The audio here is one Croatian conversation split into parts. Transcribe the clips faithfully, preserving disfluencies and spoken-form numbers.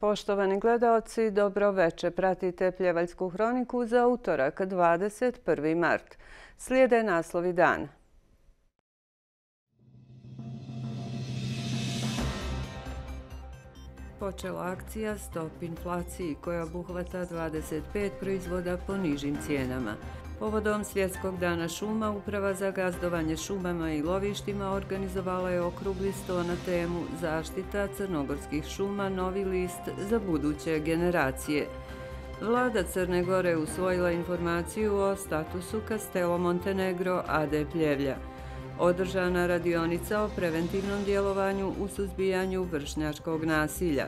Poštovani gledaoci, dobro veče. Pratite Pljevaljsku hroniku za utorak, dvadeset prvi mart. Slijede naslovi dana. Počela akcija Stop inflaciji koja obuhvata dvadeset pet proizvoda po nižim cijenama. Povodom Svjetskog dana šuma, Uprava za gazdovanje šumama i lovištima organizovala je okrugli sto na temu Zaštita crnogorskih šuma, novi list za buduće generacije. Vlada Crne Gore usvojila informaciju o statusu Castello Montenegro a d Pljevlja. Održana radionica o preventivnom djelovanju u suzbijanju vršnjačkog nasilja.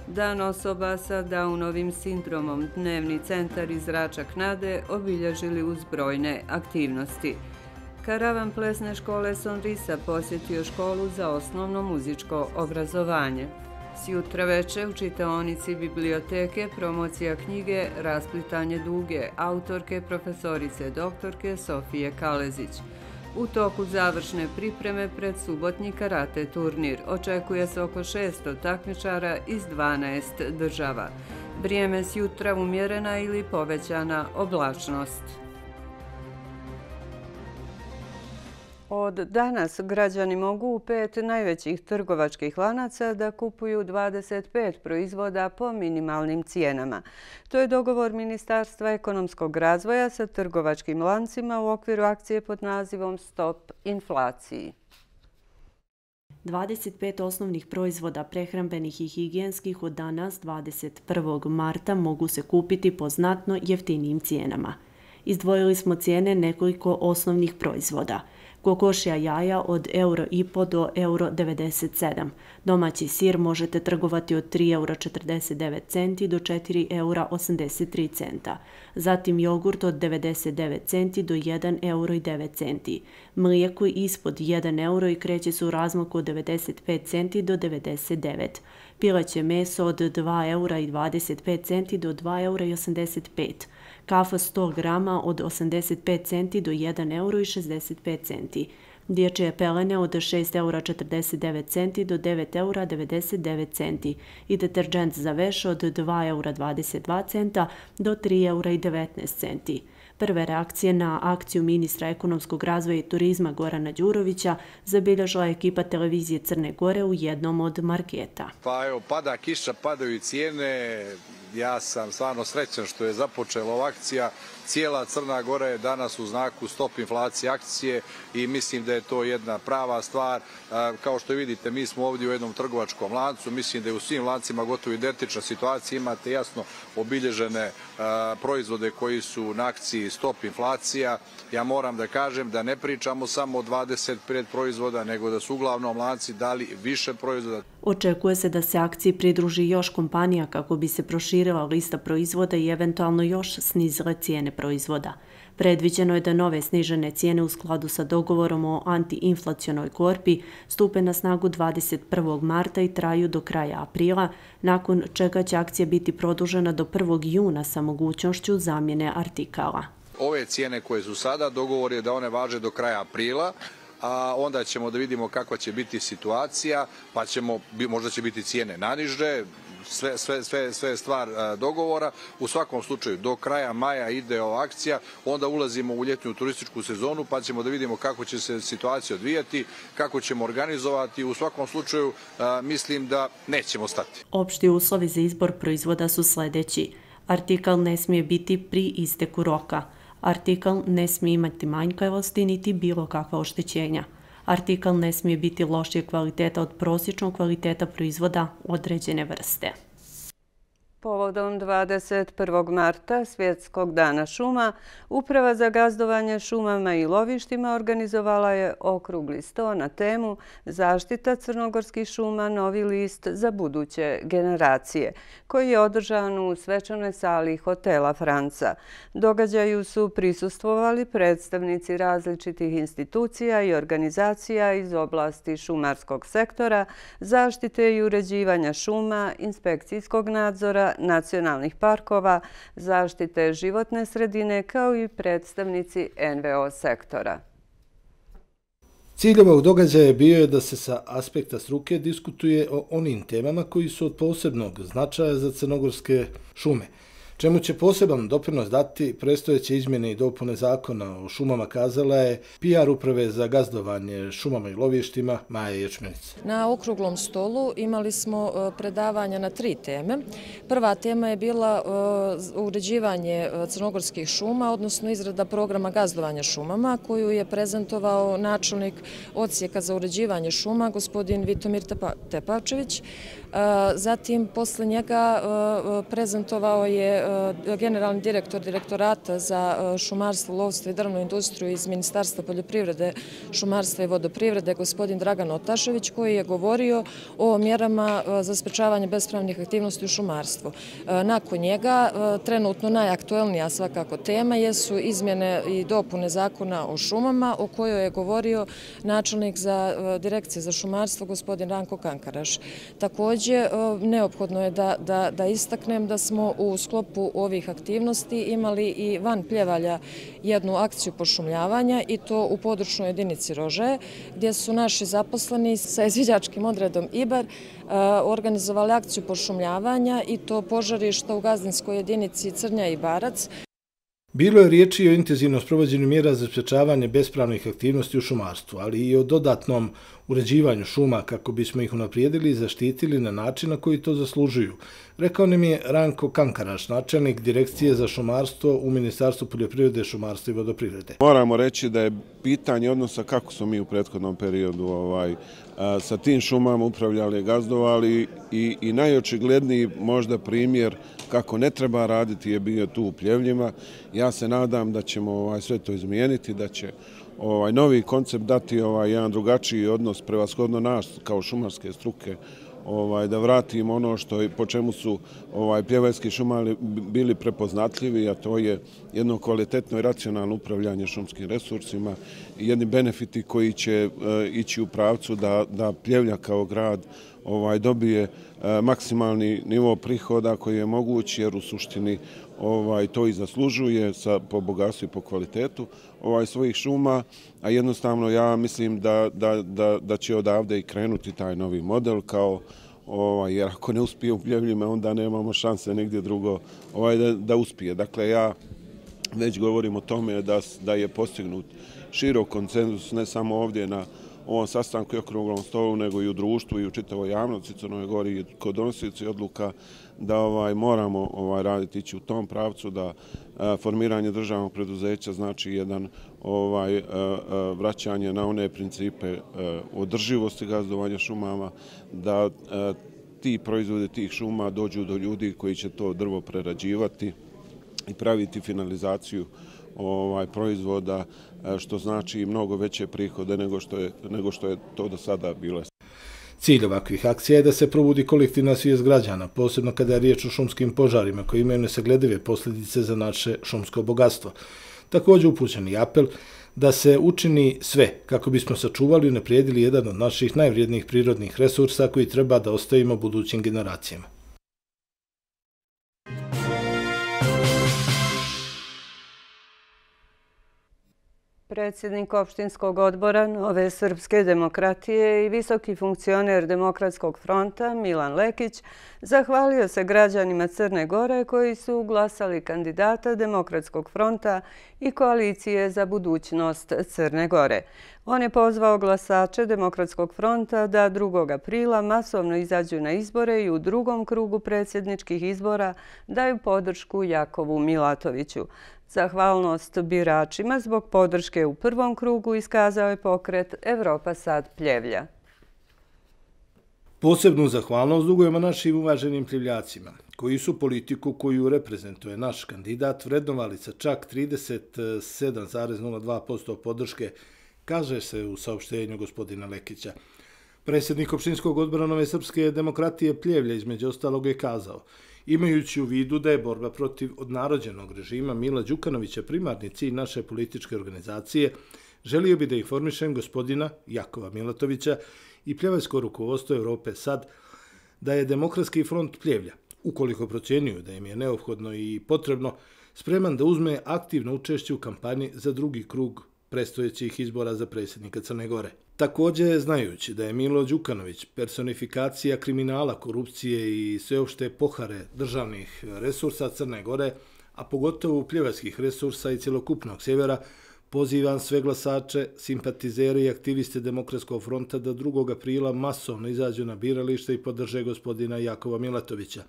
Dan osoba sa Downovim sindromom, Dnevni centar iz Račak Nade obilježili uz brojne aktivnosti. Karavan plesne škole Sonrisa posjetio školu za osnovno muzičko obrazovanje. Sjutra veče u čitaonici biblioteke promocija knjige Rasplitanje duge, autorke profesorice doktorke Sofije Kalezić. U toku završne pripreme pred subotnji karate turnir očekuje se oko šesto takmičara iz dvanaest država. Vrijeme sjutra umjerena ili povećana oblačnost. Od danas građani mogu u pet najvećih trgovačkih lanaca da kupuju dvadeset pet proizvoda po minimalnim cijenama. To je dogovor Ministarstva ekonomskog razvoja sa trgovačkim lancima u okviru akcije pod nazivom Stop inflaciji. dvadeset pet osnovnih proizvoda prehrambenih i higijenskih od danas, dvadeset prvog marta, mogu se kupiti po znatno jeftinijim cijenama. Izdvojili smo cijene nekoliko osnovnih proizvoda. Kokošja jaja od euro i po do euro devedeset sedam. Domaći sir možete trgovati od tri eura četrdeset devet centi do četiri eura osamdeset tri centa. Zatim jogurt od devedeset devet centi do jedan euro i devet centi. Mlijeko ispod jedan euro i kreće se u razmaku od devedeset pet centi do devedeset devet. Pileće meso od dva eura i dvadeset pet centi do dva eura i osamdeset pet. Kafa sto grama od osamdeset pet centi do jedan euro i šezdeset pet centi. Dječje pelene od šest eura četrdeset devet centi do devet eura devedeset devet centi i deterđent za veš od dva eura dvadeset dva centa do tri eura i devetnaest centi. Prve reakcije na akciju ministra ekonomskog razvoja i turizma Gorana Đurovića zabilježila je ekipa televizije Crne Gore u jednom od marketa. Pa evo, pada kiša, padaju i cijene. Ja sam stvarno srećan što je započela ova akcija. Cijela Crna Gora je danas u znaku Stop inflacije akcije i mislim da je to jedna prava stvar. Kao što vidite, mi smo ovdje u jednom trgovačkom lancu. Mislim da je u svim lancima gotovo identična situacija. Imate jasno obilježene proizvode koji su na akciji Stop inflacija. Ja moram da kažem da ne pričamo samo o dvadeset pet proizvoda, nego da su uglavnom lanci dali više proizvoda. Očekuje se da se akciji pridruži još kompanija kako bi se proširila lista proizvoda i eventualno još snizile cijene proizvoda. Predviđeno je da nove snižene cijene u skladu sa dogovorom o antiinflacionoj korpi stupe na snagu dvadeset prvog marta i traju do kraja aprila, nakon čega će akcija biti produžena do prvog juna sa mogućnošću zamjene artikala. Ove cijene koje su sada, dogovor je da one važe do kraja aprila, a onda ćemo da vidimo kakva će biti situacija, pa ćemo, možda će biti cijene naniže, sve, sve, sve, sve je stvar dogovora. U svakom slučaju, do kraja maja ide ova akcija, onda ulazimo u ljetnu turističku sezonu, pa ćemo da vidimo kako će se situacija odvijati, kako ćemo organizovati. U svakom slučaju, mislim da nećemo stati. Opšti uslovi za izbor proizvoda su sljedeći. Artikal ne smije biti pri isteku roka. Artikal ne smije imati manjkavosti niti bilo kakva oštećenja. Artikal ne smije biti lošije kvaliteta od prosječnog kvaliteta proizvoda određene vrste. Povodom dvadeset prvog marta, Svjetskog dana šuma, Uprava za gazdovanje šumama i lovištima organizovala je okrugli sto na temu Zaštita crnogorskih šuma, novi list za buduće generacije, koji je održan u svečanoj sali hotela Franca. Događaju su prisustvovali predstavnici različitih institucija i organizacija iz oblasti šumarskog sektora, zaštite i uređivanja šuma, inspekcijskog nadzora, nacionalnih parkova, zaštite životne sredine kao i predstavnici en ve o sektora. Cilj ovog događaja bio je da se sa aspekta struke diskutuje o onim temama koji su od posebnog značaja za crnogorske šume, čemu će poseban doprinos dati predstojeće izmjene i dopune zakona o šumama, kazala je P R uprave za gazdovanje šumama i lovištima Maja Ječmenica. Na okruglom stolu imali smo predavanja na tri teme. Prva tema je bila uređivanje crnogorskih šuma, odnosno izrada programa gazdovanja šumama, koju je prezentovao načelnik odsjeka za uređivanje šuma, gospodin Vitomir Tepavčević. Zatim, posle njega prezentovao je generalni direktor Direktorata za šumarstvo, lovstvo i drvnu industriju iz Ministarstva poljoprivrede, šumarstva i vodoprivrede, gospodin Dragan Otašević, koji je govorio o mjerama za sprečavanje bespravnih aktivnosti u šumarstvu. Nakon njega, trenutno najaktuelnija svakako tema jesu izmjene i dopune zakona o šumama, o kojoj je govorio načelnik za Direkcije za šumarstvo, gospodin Ranko Kankaraš. Također, neophodno je da, da, da istaknem da smo u sklopu ovih aktivnosti imali i van Pljevalja jednu akciju pošumljavanja, i to u područnoj jedinici Rožaje, gdje su naši zaposleni sa izviđačkim odredom Ibar organizovali akciju pošumljavanja, i to požarišta u gazdinskoj jedinici Crnja i Barac. Bilo je riječi o intenzivnom sprovođenju mjera za sprečavanje bespravnih aktivnosti u šumarstvu, ali i o dodatnom uređivanju šuma kako bismo ih unaprijedili i zaštitili na način na koji to zaslužuju, rekao nam je Ranko Kankaraš, načelnik Direkcije za šumarstvo u Ministarstvu poljoprivrede, šumarstva i vodoprivrede. Moramo reći da je pitanje odnosa kako smo mi u prethodnom periodu ovaj, a, sa tim šumama upravljali, gazdovali, i, i najočigledniji možda primjer kako ne treba raditi je bio tu u Pljevljima. Ja se nadam da ćemo ovaj, sve to izmijeniti, da će ovaj novi koncept dati ovaj jedan drugačiji odnos, prevashodno nas kao šumarske struke, ovaj da vratimo ono što po čemu su ovaj pljevaljski šumari bili prepoznatljivi, a to je jedno kvalitetno i racionalno upravljanje šumskim resursima i jedni benefiti koji će uh, ići u pravcu da da Pljevlja kao grad ovaj dobije uh, maksimalni nivo prihoda koji je moguć, jer u suštini ovaj to i zaslužuje sa po bogatstvu i po kvalitetu ovaj svojih šuma, a jednostavno ja mislim da da da da će odavde i krenuti taj novi model, kao ovaj jer ako ne uspije u Pljevljima, onda nemamo šanse negdje drugo ovaj da, da uspije. Dakle, ja već govorim o tome da da je postignut širok konsenzus, ne samo ovdje na ovom sastanku i okruglom stolu, nego i u društvu i u čitavoj javnosti Crnoj Gori kod donosioci odluka, da ovaj moramo ovaj raditi ići u tom pravcu, da a, formiranje državnog preduzeća znači jedan ovaj a, a, vraćanje na one principe a, održivosti gazdovanja šumama, da a, ti proizvodi tih šuma dođu do ljudi koji će to drvo prerađivati i praviti finalizaciju ovaj proizvoda, što znači mnogo veće prihode nego što je nego što je to do sada bilo. Cilj ovakvih akcija je da se probudi kolektivna svijest građana, posebno kada je riječ o šumskim požarima koji imaju nesagledive posljedice za naše šumsko bogatstvo. Također upućen je apel da se učini sve kako bismo sačuvali i unaprijedili jedan od naših najvrijednijih prirodnih resursa koji treba da ostavimo budućim generacijama. Predsjednik opštinskog odbora Nove srpske demokratije i visoki funkcioner Demokratskog fronta Milan Lekić zahvalio se građanima Crne Gore koji su glasali kandidata Demokratskog fronta i koalicije za budućnost Crne Gore. On je pozvao glasače Demokratskog fronta da drugog aprila masovno izađu na izbore i u drugom krugu predsjedničkih izbora daju podršku Jakovu Milatoviću. Zahvalnost biračima zbog podrške u prvom krugu iskazao je pokret Evropa sad Pljevlja. Posebnu zahvalnost dugujemo našim uvaženim pljevljacima, koji su politiku koju reprezentuje naš kandidat vrednovali sa čak trideset sedam zarez nula dva posto podrške, kaže se u saopštenju gospodina Lekića. Predsjednik opštinskog odbora Nove srpske demokratije Pljevlja između ostalog je kazao: imajući u vidu da je borba protiv odnarođenog režima Mila Đukanovića primarni cilj naše političke organizacije, želio bi da informišem gospodina Jakova Milatovića i pljevaljsko rukovodstvo Evrope sad da je Demokratski front Pljevlja, ukoliko procjenjuju da im je neophodno i potrebno, spreman da uzme aktivno učešće u kampanji za drugi krug predstojećih izbora za predsjednika Crne Gore. Također, znajući da je Milo Đukanović personifikacija kriminala, korupcije i sveopšte pohare državnih resursa Crne Gore, a pogotovo pljevačkih resursa i cjelokupnog sjevera, pozivam sve glasače, simpatizere i aktiviste Demokratskog fronta da drugog aprila masovno izađu na biralište i podrže gospodina Jakova Milatovića.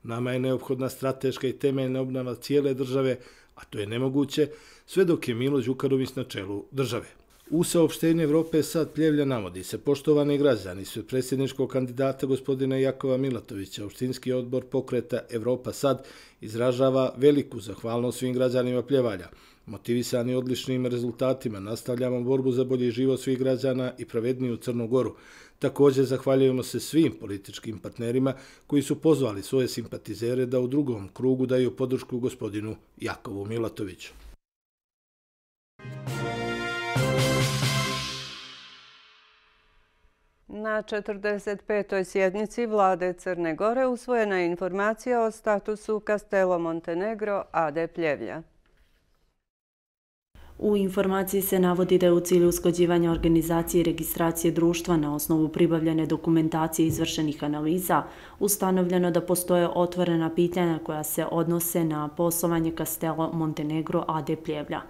Nama je neophodna strateška i temeljna obnova cijele države, a to je nemoguće sve dok je Milo Đukanović na čelu države. U saopštenju Evrope Sad Pljevlja navodi se: poštovani građani, sve predsjedničkog kandidata gospodina Jakova Milatovića, opštinski odbor pokreta Evropa Sad izražava veliku zahvalnost svim građanima Pljevalja. Motivisani odličnim rezultatima nastavljamo borbu za bolji život svih građana i pravedniju Crnu Goru. Također zahvaljujemo se svim političkim partnerima koji su pozvali svoje simpatizere da u drugom krugu daju podršku gospodinu Jakovu Milatoviću. Na četrdeset petoj sjednici Vlade Crne Gore usvojena je informacija o statusu Castello Montenegro a d Pljevlja. U informaciji se navodi da je u cilju usklađivanja organizacije i registracije društva na osnovu pribavljene dokumentacije izvršenih analiza ustanovljeno da postoje otvorena pitanja koja se odnose na poslovanje Castello Montenegro a d Pljevlja.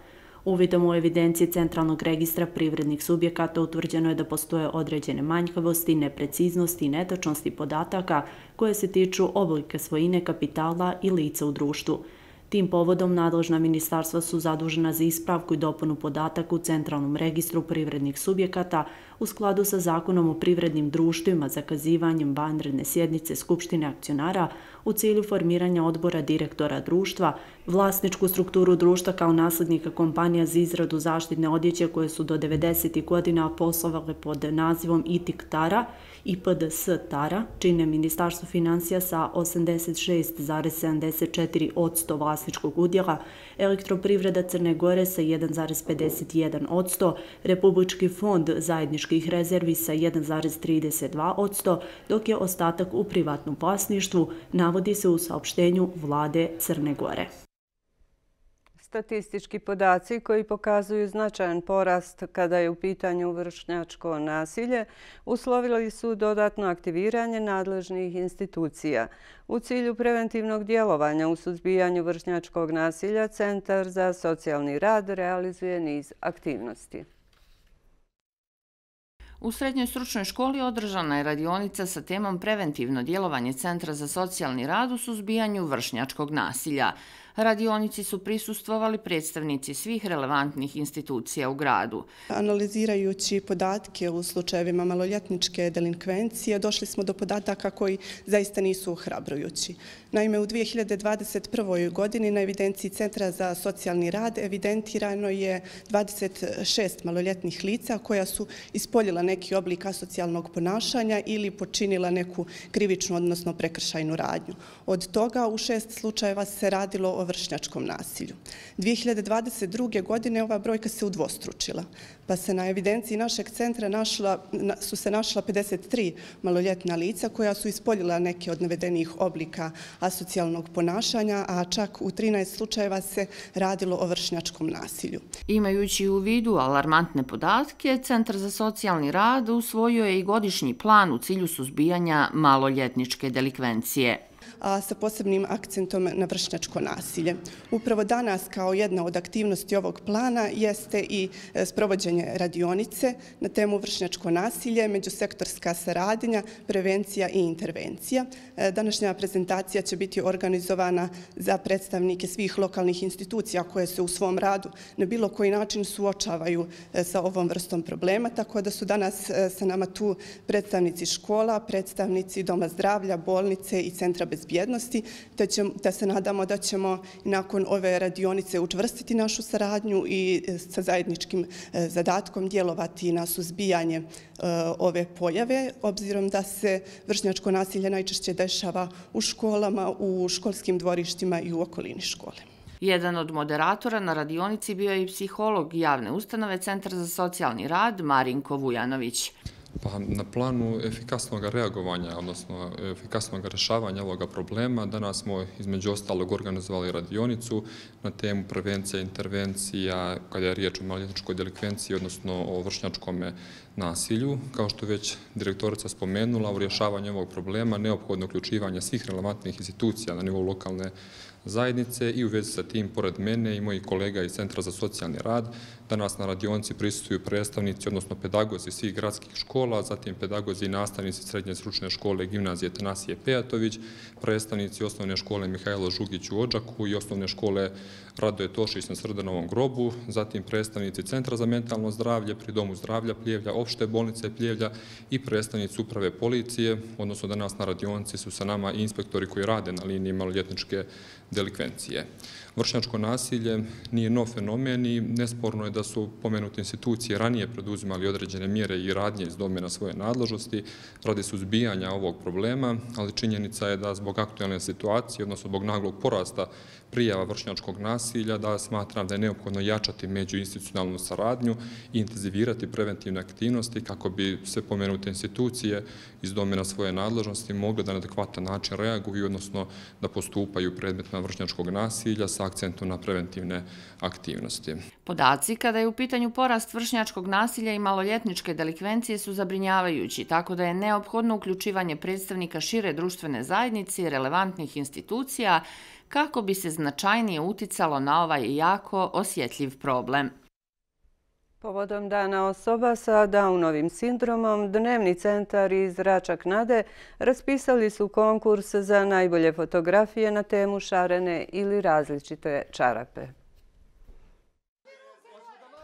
Uvidom u evidenciji Centralnog registra privrednih subjekata utvrđeno je da postoje određene manjkavosti, nepreciznosti i netočnosti podataka koje se tiču oblika svojine, kapitala i lica u društvu. Tim povodom nadležna ministarstva su zadužena za ispravku i dopunu podataka u Centralnom registru privrednih subjekata u skladu sa Zakonom o privrednim društvima, zakazivanjem vanredne sjednice Skupštine akcionara u cilju formiranja odbora direktora društva, vlasničku strukturu društva kao naslednika kompanija za izradu zaštitne odjeće koje su do devedesetih godina poslovale pod nazivom I T I K Tara i P D S Tara, čine Ministarstvo financija sa osamdeset šest zarez sedamdeset četiri posto vlasničkog udjela, Elektroprivreda Crne Gore sa jedan zarez pedeset jedan posto, Republički fond zajedničkih rezervi sa jedan zarez trideset dva posto, dok je ostatak u privatnom vlasništvu, navodi se u saopštenju Vlade Crne Gore. Statistički podaci koji pokazuju značajan porast kada je u pitanju vršnjačko nasilje uslovili su dodatno aktiviranje nadležnih institucija. U cilju preventivnog djelovanja u suzbijanju vršnjačkog nasilja Centar za socijalni rad realizuje niz aktivnosti. U Srednjoj stručnoj školi održana je radionica sa temom preventivno djelovanje Centra za socijalni rad u suzbijanju vršnjačkog nasilja. Radionici su prisustvovali predstavnici svih relevantnih institucija u gradu. Analizirajući podatke u slučajevima maloljetničke delinkvencije, došli smo do podataka koji zaista nisu ohrabrujući. Naime, u dvije hiljade dvadeset prvoj. godini na evidenciji Centra za socijalni rad evidentirano je dvadeset šest maloljetnih lica koja su ispoljila neki oblik asocijalnog ponašanja ili počinila neku krivičnu, odnosno prekršajnu radnju. Od toga u šest slučajeva se radilo o vršnjačkom nasilju. dvije hiljade dvadeset druge. godine ova brojka se udvostručila, pa se na evidenciji našeg centra našla, su se našla pedeset tri maloljetna lica koja su ispoljila neke od navedenih oblika asocijalnog ponašanja, a čak u trinaest slučajeva se radilo o vršnjačkom nasilju. Imajući u vidu alarmantne podatke, Centar za socijalni rad usvojio je i godišnji plan u cilju suzbijanja maloljetničke delikvencije, a sa posebnim akcentom na vršnjačko nasilje. Upravo danas kao jedna od aktivnosti ovog plana jeste i sprovođenje radionice na temu vršnjačko nasilje, međusektorska saradnja, prevencija i intervencija. Današnja prezentacija će biti organizovana za predstavnike svih lokalnih institucija koje se u svom radu na bilo koji način suočavaju sa ovom vrstom problema, tako da su danas sa nama tu predstavnici škola, predstavnici Doma zdravlja, bolnice i Centra bezbjednosti, te, će, te se nadamo da ćemo nakon ove radionice učvrstiti našu saradnju i sa zajedničkim zadatkom djelovati na suzbijanje e, ove pojave, obzirom da se vršnjačko nasilje najčešće dešava u školama, u školskim dvorištima i u okolini škole. Jedan od moderatora na radionici bio je i psiholog javne ustanove Centar za socijalni rad Marinko Vujanović. Pa na planu efikasnog reagovanja, odnosno efikasnog rješavanja ovoga problema, danas smo između ostalog organizovali radionicu na temu prevencija i intervencija kada je riječ o maloljetničkoj delikvenciji, odnosno o vršnjačkom nasilju. Kao što već direktorica spomenula, u rješavanju ovog problema neophodno uključivanje svih relevantnih institucija na nivou lokalne zajednice i u vezi sa tim, pored mene i mojih kolega iz Centra za socijalni rad, danas na radionici prisustvuju predstavnici, odnosno pedagozi svih gradskih škola, zatim pedagozi i nastavnici Srednje stručne škole Gimnazije Tanasije Pejatović, predstavnici Osnovne škole Mihajlo Žugić u Odžaku i Osnovne škole Radoje Tošić na Srdanovom grobu, zatim predstavnici Centra za mentalno zdravlje pri Domu zdravlja Pljevlja, Opšte bolnice Pljevlja i predstavnici Uprave policije, odnosno danas na radionici su sa nama i inspektori koji rade na liniji maloljetničke delikvencije. Vršnjačko nasilje nije nov fenomen i nesporno je da su pomenute institucije ranije preduzimali određene mjere i radnje iz domena svoje nadležnosti radi suzbijanja ovog problema, ali činjenica je da zbog aktualne situacije, odnosno zbog naglog porasta prijava vršnjačkog nasilja, da smatram da je neophodno jačati međuinstitucionalnu saradnju i intenzivirati preventivne aktivnosti kako bi sve pomenute institucije iz domena svoje nadležnosti mogle da na adekvatan način reaguju, odnosno da postupaju predmetima vršnjačkog nasilja sa akcentom na preventivne aktivnosti. Podaci kada je u pitanju porast vršnjačkog nasilja i maloljetničke delikvencije su zabrinjavajući, tako da je neophodno uključivanje predstavnika šire društvene zajednice i relevantnih institucija kako bi se značajnije uticalo na ovaj jako osjetljiv problem. Povodom Dana osoba sa Downovim sindromom, Dnevni centar iz Račak Nade raspisali su konkurs za najbolje fotografije na temu šarene ili različite čarape.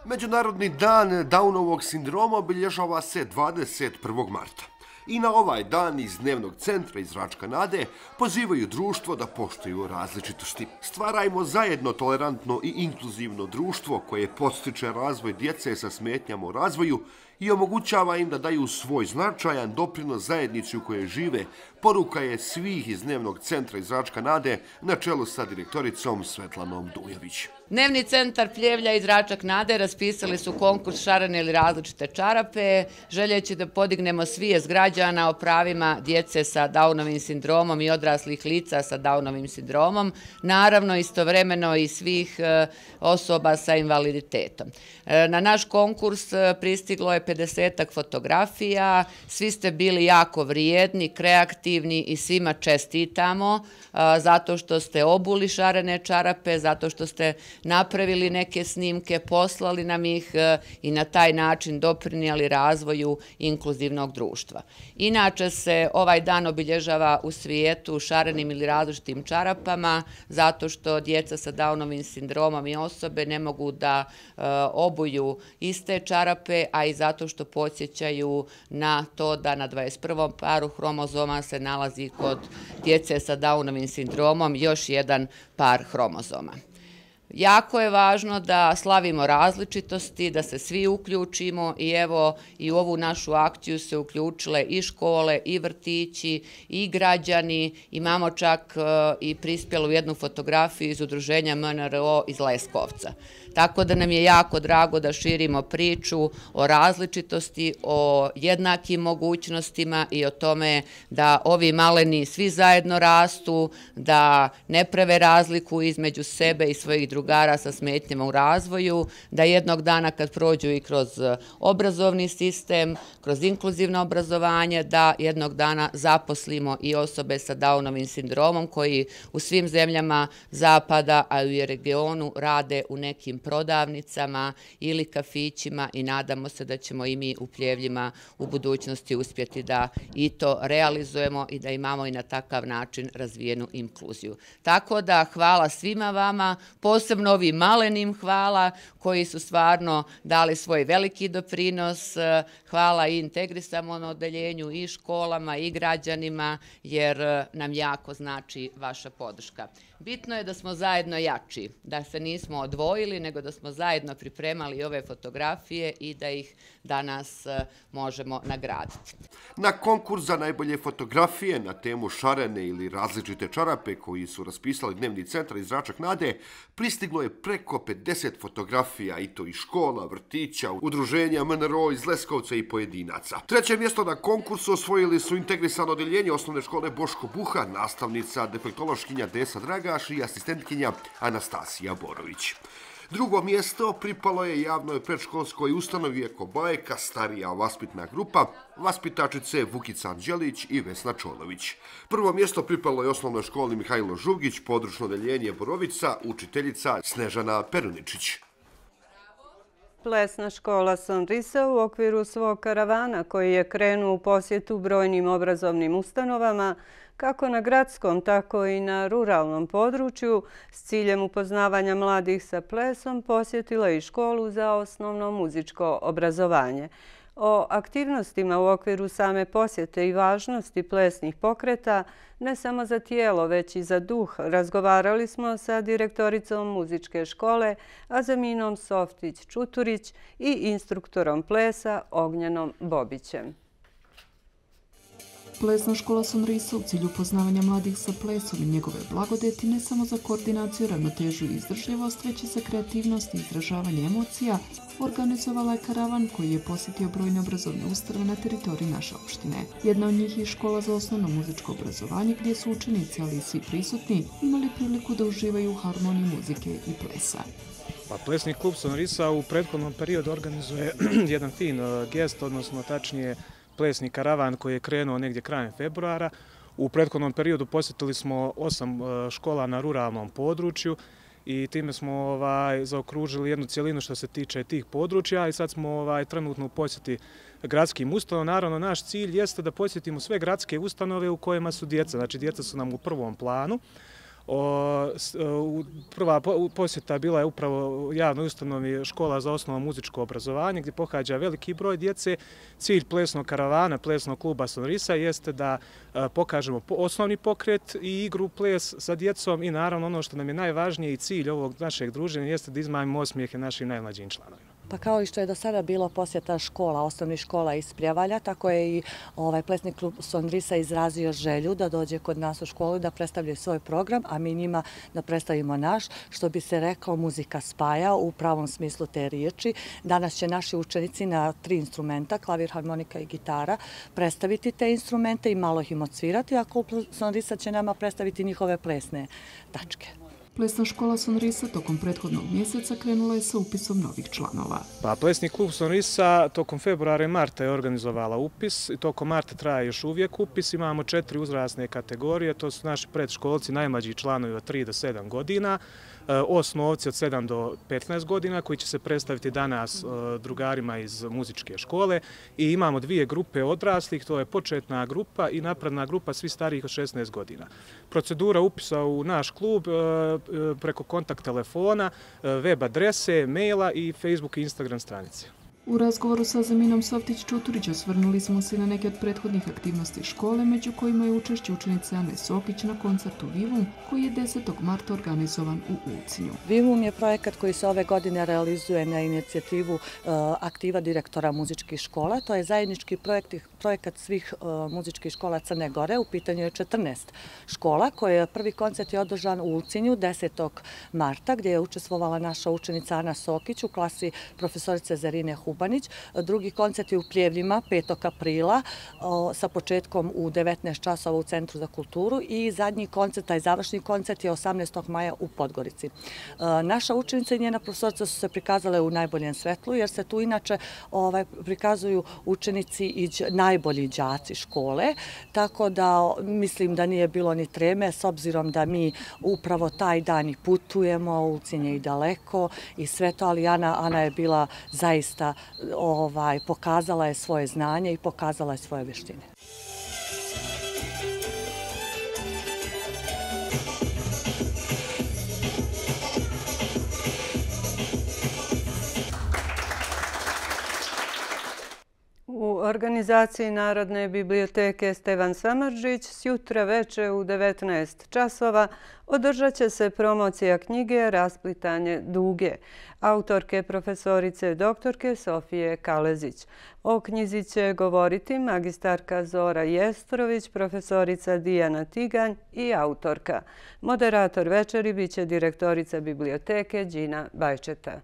Međunarodni dan Downovog sindroma obilježava se dvadeset prvog marta. I na ovaj dan iz Dnevnog centra iz Račka Nade pozivaju društvo da poštuju različitosti. Stvarajmo zajedno tolerantno i inkluzivno društvo koje podstiče razvoj djece sa smetnjama u razvoju i omogućava im da daju svoj značajan doprinos zajednici u kojoj žive, poruka je svih iz Dnevnog centra iz Račka Nade na čelu sa direktoricom Svetlanom Dujović. Dnevni centar Pljevlja iz Račak Nade raspisali su konkurs šarene ili različite čarape, željeći da podignemo svijest građana o pravima djece sa Downovim sindromom i odraslih lica sa Downovim sindromom, naravno istovremeno i svih osoba sa invaliditetom. Na naš konkurs pristiglo je pedesetak fotografija, svi ste bili jako vrijedni, kreativni i svima čestitamo zato što ste obuli šarene čarape, zato što ste napravili neke snimke, poslali nam ih i na taj način doprinijeli razvoju inkluzivnog društva. Inače se ovaj dan obilježava u svijetu šarenim ili različitim čarapama zato što djeca sa Downovim sindromom i osobe ne mogu da obuju iste čarape, a i zato što podsjećaju na to da na dvadeset prvom paru hromozoma se nalazi kod djece sa Downovim sindromom još jedan par hromozoma. Jako je važno da slavimo različitosti, da se svi uključimo i evo i u ovu našu akciju se uključile i škole, i vrtići, i građani. Imamo čak i prispjelu jednu fotografiju iz udruženja M N R O iz Leskovca. Tako da nam je jako drago da širimo priču o različitosti, o jednakim mogućnostima i o tome da ovi maleni svi zajedno rastu, da ne prave razliku između sebe i svojih drugara sa smetnjama u razvoju, da jednog dana kad prođu i kroz obrazovni sistem, kroz inkluzivno obrazovanje, da jednog dana zaposlimo i osobe sa Downovim sindromom koji u svim zemljama zapada, a i u regionu rade u nekim prodavnicama ili kafićima i nadamo se da ćemo i mi u Pljevljima u budućnosti uspjeti da i to realizujemo i da imamo i na takav način razvijenu inkluziju. Tako da hvala svima vama, posebno ovim malenim hvala koji su stvarno dali svoj veliki doprinos. Hvala i integrisanom odeljenju i školama i građanima jer nam jako znači vaša podrška. Bitno je da smo zajedno jači, da se nismo odvojili, nego da smo zajedno pripremali ove fotografije i da ih danas možemo nagraditi. Na konkurs za najbolje fotografije na temu šarene ili različite čarape koji su raspisali Dnevni centar iz Račak Nade pristiglo je preko pedeset fotografija i to iz škola, vrtića, udruženja M N R O iz Leskovca i pojedinaca. Treće mjesto na konkursu osvojili su integrisano odeljenje Osnovne škole Boško Buha, nastavnica defektološkinja Desa Dragaš i asistentkinja Anastasija Borović. Drugo mjesto pripalo je javnoj predškolskoj ustanovi Eko Bajka, starija vaspitna grupa, vaspitačice Vukica Anđelić i Vesna Čolović. Prvo mjesto pripalo je osnovnoj školi Mihajlo Žugić, područno odeljenje Borovica, učiteljica Snežana Peruničić. Plesna škola Sonrisa u okviru svog karavana koji je krenuo u posjetu brojnim obrazovnim ustanovama, kako na gradskom, tako i na ruralnom području, s ciljem upoznavanja mladih sa plesom, posjetila i školu za osnovno muzičko obrazovanje. O aktivnostima u okviru same posjete i važnosti plesnih pokreta, ne samo za tijelo, već i za duh, razgovarali smo sa direktoricom muzičke škole Azaminom Softić-Čuturić i instruktorom plesa Ognjanom Bobićem. Plesna škola Sonrisa u cilju upoznavanja mladih sa plesom i njegove blagodeti ne samo za koordinaciju, ravnotežu i izdržljivost, već i za kreativnost i izražavanje emocija, organizovala je karavan koji je posjetio brojne obrazovne ustanove na teritoriji naše opštine. Jedna od njih je škola za osnovno muzičko obrazovanje gdje su učenici, ali i svi prisutni, imali priliku da uživaju u harmoniji muzike i plesa. Pa Plesni klub Sonrisa u prethodnom periodu organizuje jedan fin gest, odnosno tačnije plesni karavan koji je krenuo negdje krajem februara. U prethodnom periodu posjetili smo osam škola na ruralnom području i time smo ovaj, zaokružili jednu cijelinu što se tiče tih područja i sad smo ovaj, trenutno u posjeti gradskim ustanovama. Naravno, naš cilj jeste da posjetimo sve gradske ustanove u kojima su djeca. Znači, djeca su nam u prvom planu. O, prva posjeta bila je upravo javnoj ustanovi škola za osnovno muzičko obrazovanje gdje pohađa veliki broj djece. Cilj plesnog karavana, plesnog kluba Sonrisa jeste da pokažemo osnovni pokret i igru ples sa djecom i naravno ono što nam je najvažnije i cilj ovog našeg druženja jeste da izmajemo osmijehe našim najmlađim članovima. Pa kao i što je do sada bilo posjeta škola, osnovnih škola iz Prijavalja, tako je i ovaj plesni klub Sonrisa izrazio želju da dođe kod nas u školu da predstavljaju svoj program, a mi njima da predstavimo naš, što bi se rekao muzika spaja u pravom smislu te riječi. Danas će naši učenici na tri instrumenta, klavir, harmonika i gitara, predstaviti te instrumente i malo ih im odsvirati, a klub Sonrisa će nama predstaviti njihove plesne tačke. Plesna škola Sonrisa tokom prethodnog mjeseca krenula je sa upisom novih članova. Pa Plesni klub Sonrisa tokom februara i marta je organizovala upis i tokom marta traje još uvijek upis. Imamo četiri uzrasne kategorije, to su naši predškolci, najmlađi članovi od tri do sedam godina, osnovci od sedam do petnaest godina koji će se predstaviti danas drugarima iz muzičke škole i imamo dvije grupe odraslih, to je početna grupa i napredna grupa svi starijih od šesnaest godina. Procedura upisa u naš klub preko kontakt telefona, web adrese, maila i Facebook i Instagram stranice. U razgovoru sa Azaminom Softić-Čuturić osvrnuli smo se na neke od prethodnih aktivnosti škole, među kojima je učešće učenice Ane Sokić na koncertu Vivum, koji je desetog marta organizovan u Ulcinju. Vivum je projekat koji se ove godine realizuje na inicijativu uh, aktiva direktora muzičkih škola. To je zajednički projekt, projekat svih uh, muzičkih škola Crne Gore. U pitanju je četrnaest škola, koje prvi koncert je održan u Ulcinju desetog marta, gdje je učestvovala naša učenica Ana Sokić u klasi profesorice Zarine Hubanić. Drugi koncert je u Pljevljima petog aprila sa početkom u devetnaest časova u Centru za kulturu i zadnji koncert, taj završni koncert je osamnaestog maja u Podgorici. Naša učenica i njena profesorica su se prikazale u najboljem svetlu jer se tu inače ovaj, prikazuju učenici i najbolji đaci škole, tako da mislim da nije bilo ni treme s obzirom da mi upravo taj dan i putujemo, Ulcinj je i daleko i sve to, ali Ana, Ana je bila zaista Ovaj, pokazala je svoje znanje i pokazala je svoje vještine. U organizaciji Narodne biblioteke Stevan Samardžić sjutra veče u devetnaest časova održat će se promocija knjige Rasplitanje duge, autorke profesorice doktorke Sofije Kalezić. O knjizi će govoriti magistarka Zora Jestrović, profesorica Dijana Tiganj i autorka. Moderator večeri biće direktorica biblioteke Đina Bajčeta.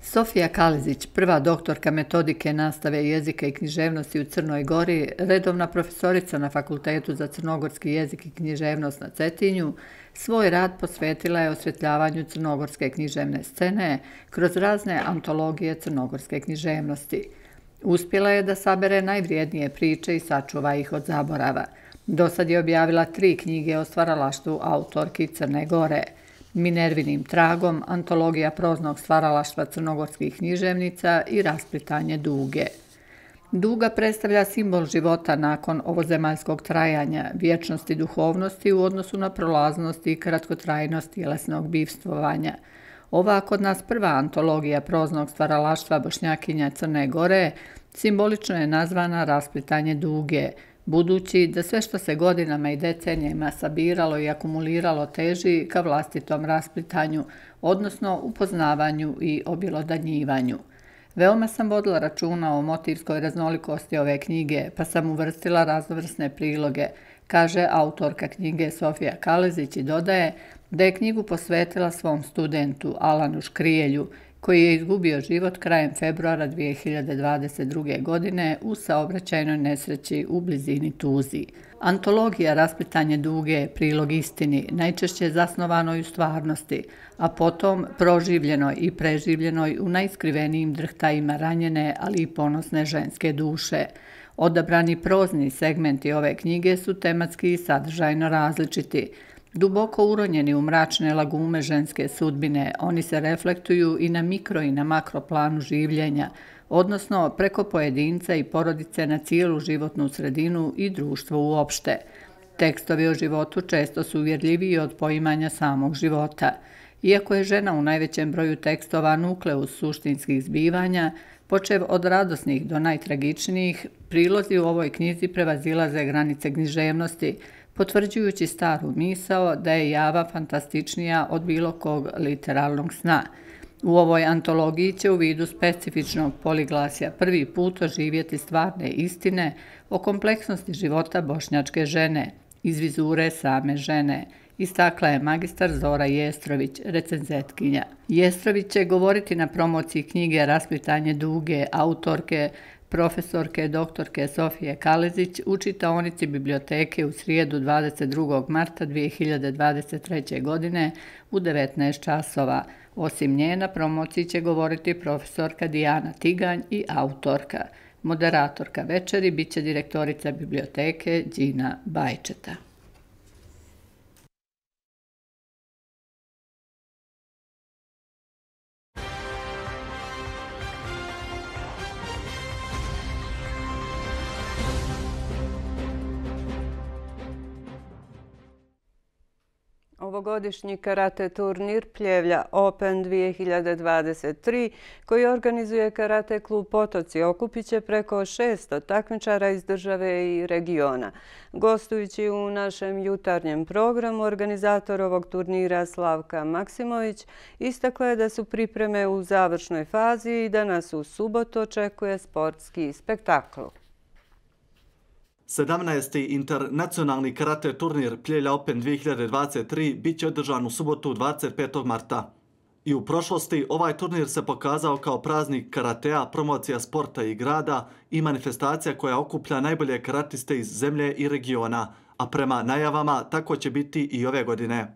Sofija Kalezić, prva doktorka metodike nastave jezika i književnosti u Crnoj Gori, redovna profesorica na Fakultetu za crnogorski jezik i književnost na Cetinju, svoj rad posvetila je osvjetljavanju crnogorske književne scene kroz razne antologije crnogorske književnosti. Uspjela je da sabere najvrijednije priče i sačuva ih od zaborava. Dosad je objavila tri knjige o stvaralaštvu autorki Crne Gore. Minervinim tragom, antologija proznog stvaralaštva crnogorskih književnica i rasplitanje duge. Duga predstavlja simbol života nakon ovozemaljskog trajanja, vječnosti duhovnosti u odnosu na prolaznost i kratkotrajnost tjelesnog bivstvovanja. Ova kod nas prva antologija proznog stvaralaštva Bošnjakinja Crne Gore simbolično je nazvana Rasplitanje duge, budući da sve što se godinama i decenijama sabiralo i akumuliralo teži ka vlastitom rasplitanju, odnosno upoznavanju i objelodanjivanju. Veoma sam vodila računa o motivskoj raznolikosti ove knjige, pa sam uvrstila raznovrsne priloge, kaže autorka knjige Sofija Kalezić i dodaje da je knjigu posvetila svom studentu Alanu Škrijelju, koji je izgubio život krajem februara dvije hiljade dvadeset druge. godine u saobraćajnoj nesreći u blizini Tuziji. Antologija Rasplitanje duge je prilog istini, najčešće zasnovanoj u stvarnosti, a potom proživljenoj i preživljenoj u najskrivenijim drhtajima ranjene, ali i ponosne ženske duše. Odabrani prozni segmenti ove knjige su tematski i sadržajno različiti. Duboko uronjeni u mračne lagume ženske sudbine, oni se reflektuju i na mikro i na makro planu življenja, odnosno preko pojedinca i porodice na cijelu životnu sredinu i društvo uopšte. Tekstovi o životu često su uvjerljiviji od poimanja samog života. Iako je žena u najvećem broju tekstova nukleus suštinskih zbivanja, počev od radosnih do najtragičnijih, prilozi u ovoj knjizi prevazilaze granice književnosti, potvrđujući staru misao da je java fantastičnija od bilo kog literalnog sna. U ovoj antologiji će u vidu specifičnog poliglasja prvi put oživjeti stvarne istine o kompleksnosti života bošnjačke žene, iz vizure same žene, istakla je magistar Zora Jestrović, recenzetkinja. Jestrović će govoriti na promociji knjige Rasplitanje duge, autorke profesorke doktorke Sofije Kalezić u čitaonici biblioteke u srijedu dvadeset drugog marta dvije hiljade dvadeset treće. godine u devetnaest časova. Osim nje na promociji će govoriti profesorka Dijana Tiganj i autorka. Moderatorka večeri bit će direktorica biblioteke Đina Bajčeta. Ovogodišnji karate turnir Pljevlja Open dvije hiljade dvadeset tri, koji organizuje karate klub Potoci, okupit će preko šesto takmičara iz države i regiona. Gostujući u našem jutarnjem programu, organizator ovog turnira Slavka Maksimović istakla je da su pripreme u završnoj fazi i da nas u subotu očekuje sportski spektakl. sedamnaesti. internacionalni karate turnir Pljevlja Open dvije hiljade dvadeset tri bit će održan u subotu dvadeset petog marta. I u prošlosti ovaj turnir se pokazao kao praznik karatea, promocija sporta i grada i manifestacija koja okuplja najbolje karatiste iz zemlje i regiona, a prema najavama tako će biti i ove godine.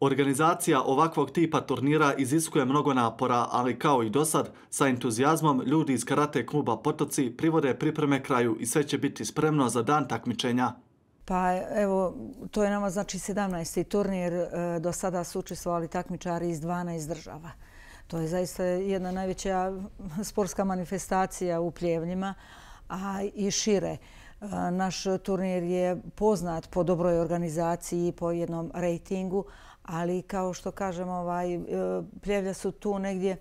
Organizacija ovakvog tipa turnira iziskuje mnogo napora, ali kao i dosad, sa entuzijazmom ljudi iz karate kluba Potoci privode pripreme kraju i sve će biti spremno za dan takmičenja. Pa evo, to je nama znači sedamnaesti. turnir. Do sada su učestvovali takmičari iz dvanaest država. To je zaista jedna najveća sportska manifestacija u Pljevljima, a i šire. Naš turnir je poznat po dobroj organizaciji i po jednom rejtingu, ali kao što kažem, ovaj, Pljevlja su tu negdje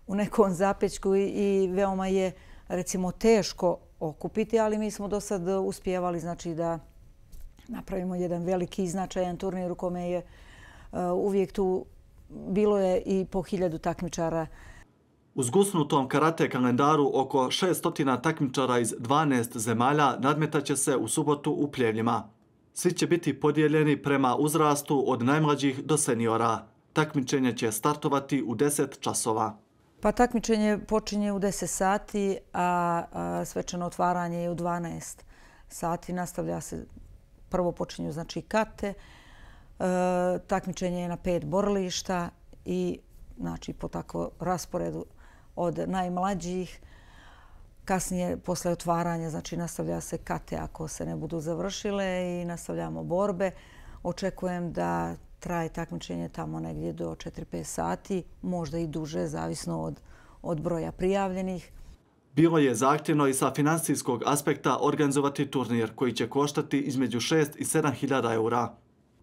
u nekom zapećku i veoma je recimo teško okupiti, ali mi smo do sad uspijevali znači da napravimo jedan veliki i značajan turnir u kome je uvijek tu bilo je i po hiljadu takmičara. U zgusnutom karate kalendaru oko šesto takmičara iz dvanaest zemalja nadmetaće se u subotu u Pljevljima. Svi će biti podijeljeni prema uzrastu od najmlađih do seniora. Takmičenje će startovati u deset časova. Pa takmičenje počinje u deset sati, a svečano otvaranje je u dvanaest sati. Nastavlja se, prvo počinju znači kate, takmičenje je na pet borilišta i znači po tako rasporedu od najmlađih. Kasnije, posle otvaranja, znači nastavlja se kate ako se ne budu završile i nastavljamo borbe. Očekujem da traje takmičenje tamo negdje do četiri pet sati, možda i duže, zavisno od, od broja prijavljenih. Bilo je zahtjevno i sa finansijskog aspekta organizovati turnir koji će koštati između šest i sedam hiljada eura.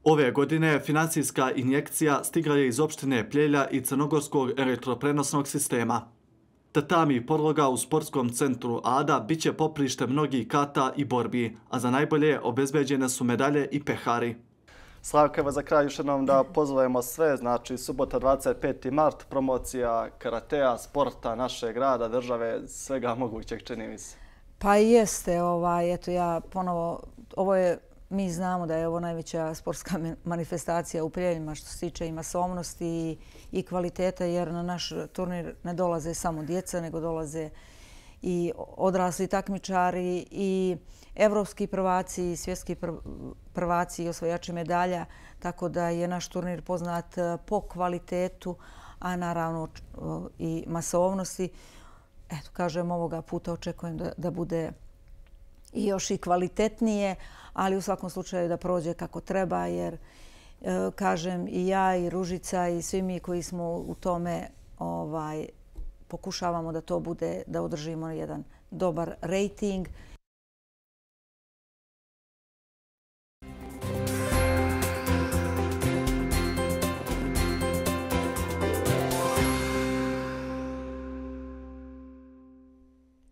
Ove godine finansijska injekcija stigla je iz opštine Pljevlja i Crnogorskog elektroprenosnog sistema. Tatami podloga u sportskom centru Ada bit će poprište mnogih kata i borbi, a za najbolje obezbeđene su medalje i pehari. Slavka, evo za kraj još jednom da pozovemo sve, znači subota dvadeset peti mart, promocija karatea, sporta našeg grada, države, svega mogućeg, čini mi se. Pa jeste, ovaj, eto ja ponovo, ovo je, mi znamo da je ovo najveća sportska manifestacija u Pljevljima što se tiče i masovnosti i, i kvaliteta, jer na naš turnir ne dolaze samo djeca, nego dolaze i odrasli takmičari i evropski prvaci i svjetski prvaci i osvajači medalja, tako da je naš turnir poznat po kvalitetu, a naravno i masovnosti. Eto, kažem, ovoga puta očekujem da, da bude i još i kvalitetnije, ali u svakom slučaju da prođe kako treba, jer kažem i ja i Ružica i svi mi koji smo u tome ovaj, pokušavamo da to bude, da održimo jedan dobar rejting.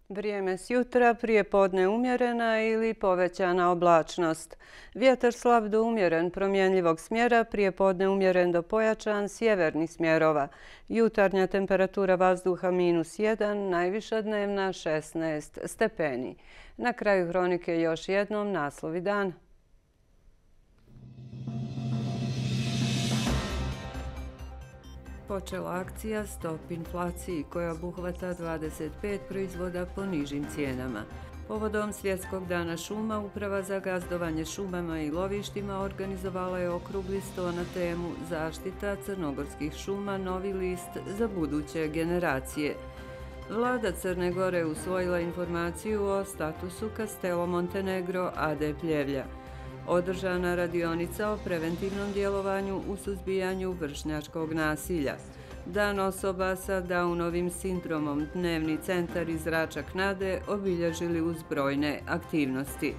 Vrijeme s jutra, prije podne umjerena ili povećana oblačnost. Vjetar slab do umjeren promjenljivog smjera, prije podne umjeren do pojačan sjevernih smjerova. Jutarnja temperatura vazduha minus jedan, najviša dnevna šesnaest stepeni. Na kraju hronike još jednom naslovi dana. Počela akcija Stop inflaciji koja obuhvata dvadeset pet proizvoda po nižim cijenama. Povodom Svjetskog dana šuma, Uprava za gazdovanje šumama i lovištima organizovala je okrugli sto na temu Zaštita crnogorskih šuma, novi list za buduće generacije. Vlada Crne Gore usvojila informaciju o statusu Castello Montenegro A D Pljevlja. Održana radionica o preventivnom djelovanju u suzbijanju vršnjačkog nasilja. Dan osoba sa Downovim sindromom, dnevni centar iz Račak Nade obilježili uz brojne aktivnosti.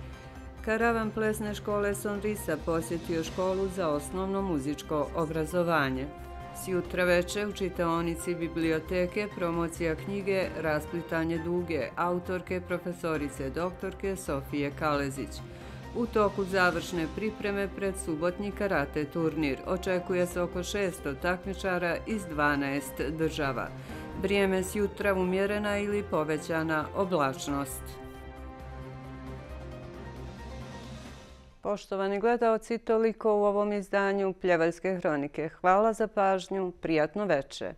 Karavan plesne škole Sonrisa posjetio školu za osnovno muzičko obrazovanje. Sjutra veče u čitaonici biblioteke promocija knjige Rasplitanje duge, autorke profesorice doktorke Sofije Kalezić. U toku završne pripreme pred subotnji karate turnir očekuje se oko šesto takmičara iz dvanaest država. Vrijeme s jutra umjerena ili povećana oblačnost. Poštovani gledaoci, toliko u ovom izdanju Pljevaljske hronike. Hvala za pažnju, prijatno veče.